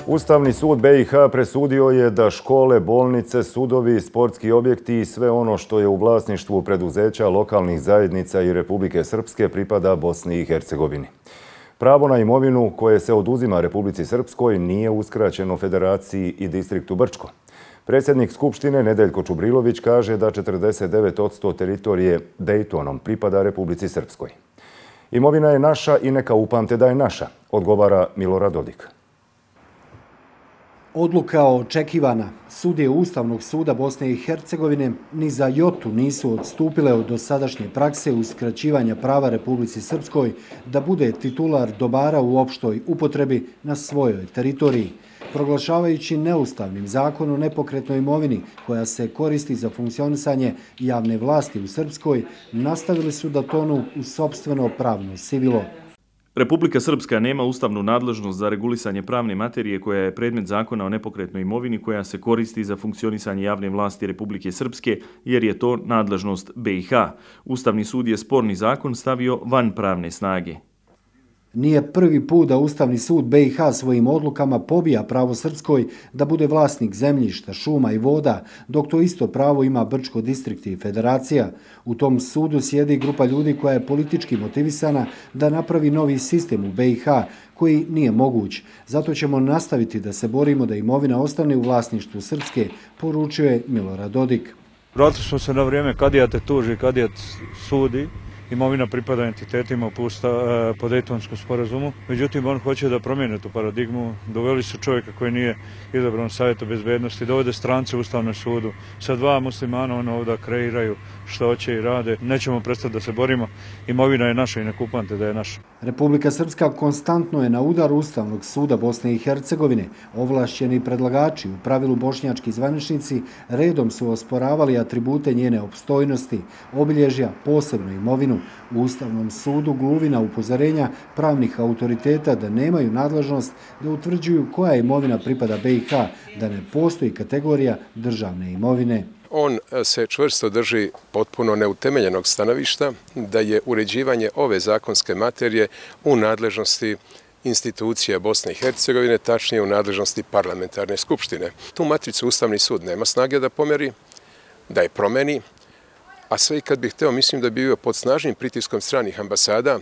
Ustavni sud BiH presudio je da škole, bolnice, sudovi, sportski objekti i sve ono što je u vlasništvu preduzeća lokalnih zajednica i Republike Srpske pripada Bosni i Hercegovini. Pravo na imovinu koje se oduzima Republici Srpskoj nije uskraćeno Federaciji i distriktu Brčko. Predsjednik Skupštine Nedeljko Čubrilović kaže da 49% teritorije Dejtonom pripada Republici Srpskoj. Imovina je naša i neka upamte da je naša, odgovara Milorad Dodik. Odluka očekivana. Sudije Ustavnog suda Bosne i Hercegovine ni za jotu nisu odstupile od dosadašnje prakse uskraćivanja prava Republici Srpskoj da bude titular dobara u opštoj upotrebi na svojoj teritoriji, proglašavajući neustavnim zakon o nepokretnoj imovini koja se koristi za funkcionisanje javne vlasti u Srpskoj, nastavili su da tonu u sopstveno pravno sivilo. Republika Srpska nema ustavnu nadležnost za regulisanje pravne materije koja je predmet zakona o nepokretnoj imovini koja se koristi za funkcionisanje javne vlasti Republike Srpske, jer je to nadležnost BiH. Ustavni sud je sporni zakon stavio van pravne snage. Nije prvi put da Ustavni sud BiH svojim odlukama pobija pravo Srpskoj da bude vlasnik zemljišta, šuma i voda, dok to isto pravo ima Brčko distrikt i federacija. U tom sudu sjedi grupa ljudi koja je politički motivisana da napravi novi sistem u BiH koji nije moguć. Zato ćemo nastaviti da se borimo da imovina ostane u vlasništvu Srpske, poručuje Milorad Dodik. Vratili smo se na vrijeme kadija te tuži, kadija sudi. Imovina pripada entitetima po Dejtonskom sporazumu. Međutim, on hoće da promijene tu paradigmu. Doveli su čovjeka koji nije izabran Savjetu bezbednosti, dovode strance u Ustavnom sudu. Sa dva muslimana ono ovdje kreiraju što hoće i rade. Nećemo prestati da se borimo. Imovina je naša i ne kupante da je naša. Republika Srpska konstantno je na udar Ustavnog suda Bosne i Hercegovine. Ovlašćeni predlagači, u pravilu bošnjački zvaničnici, redom su osporavali atribute njene opstojnosti, obilježja, posebnu imovinu. U Ustavnom sudu gluvina upozorenja pravnih autoriteta da nemaju nadležnost da utvrđuju koja imovina pripada BiH, da ne postoji kategorija državne imovine. On se čvrsto drži potpuno neutemeljenog stanovišta da je uređivanje ove zakonske materije u nadležnosti institucija Bosne i Hercegovine, tačnije u nadležnosti parlamentarne skupštine. Tu matricu Ustavni sud nema snage da pomeri, da je promeni, a sve i kad bih hteo, mislim da bi bio pod snažnim pritiskom stranih ambasada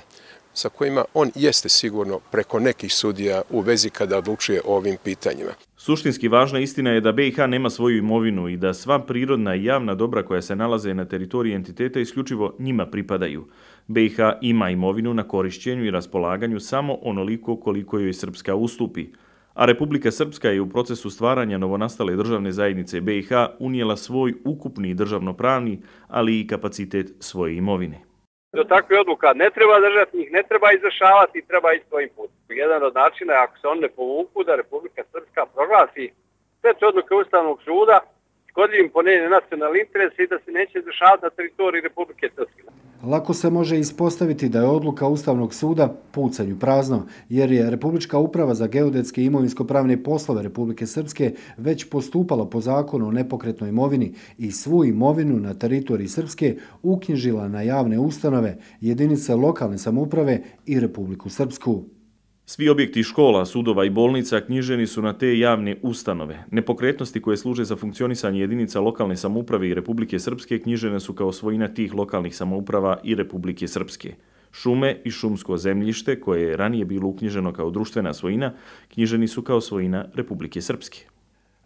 sa kojima on jeste sigurno preko nekih sudija u vezi kada odlučuje o ovim pitanjima. Suštinski važna istina je da BiH nema svoju imovinu i da sva prirodna i javna dobra koja se nalaze na teritoriji entiteta isključivo njima pripadaju. BiH ima imovinu na korišćenju i raspolaganju samo onoliko koliko joj Srpska ustupi. A Republika Srpska je u procesu stvaranja novonastale državne zajednice BiH unijela svoj ukupni državnopravni, ali i kapacitet svoje imovine. Do takve odluka ne treba držati, njih ne treba izvršavati, treba ići svojim putem. Jedan od načina je, ako se on ne povuku, da Republika Srpska proglasi sve te odluke Ustavnog suda škodljivim po njene nacionalne interese i da se neće izvršavati na teritoriji Republike Srpske. Lako se može ispostaviti da je odluka Ustavnog suda pucanj u prazno, jer je Republička uprava za geodetske i imovinsko-pravne poslove Republike Srpske već postupala po zakonu o nepokretnoj imovini i svu imovinu na teritoriji Srpske uknjižila na javne ustanove, jedinice lokalne samouprave i Republiku Srpsku. Svi objekti škola, sudova i bolnica knjiženi su na te javne ustanove. Nepokretnosti koje služe za funkcionisanje jedinica lokalne samouprave i Republike Srpske knjižene su kao svojina tih lokalnih samouprava i Republike Srpske. Šume i šumsko zemljište, koje je ranije bilo uknjiženo kao društvena svojina, knjiženi su kao svojina Republike Srpske.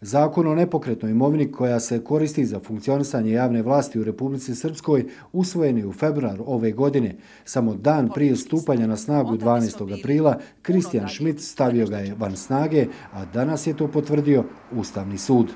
Zakon o nepokretnoj imovini koja se koristi za funkcionisanje javne vlasti u Republici Srpskoj usvojen je u februaru ove godine. Samo dan prije stupanja na snagu 12. aprila Kristijan Šmit stavio ga je van snage, a danas je to potvrdio Ustavni sud.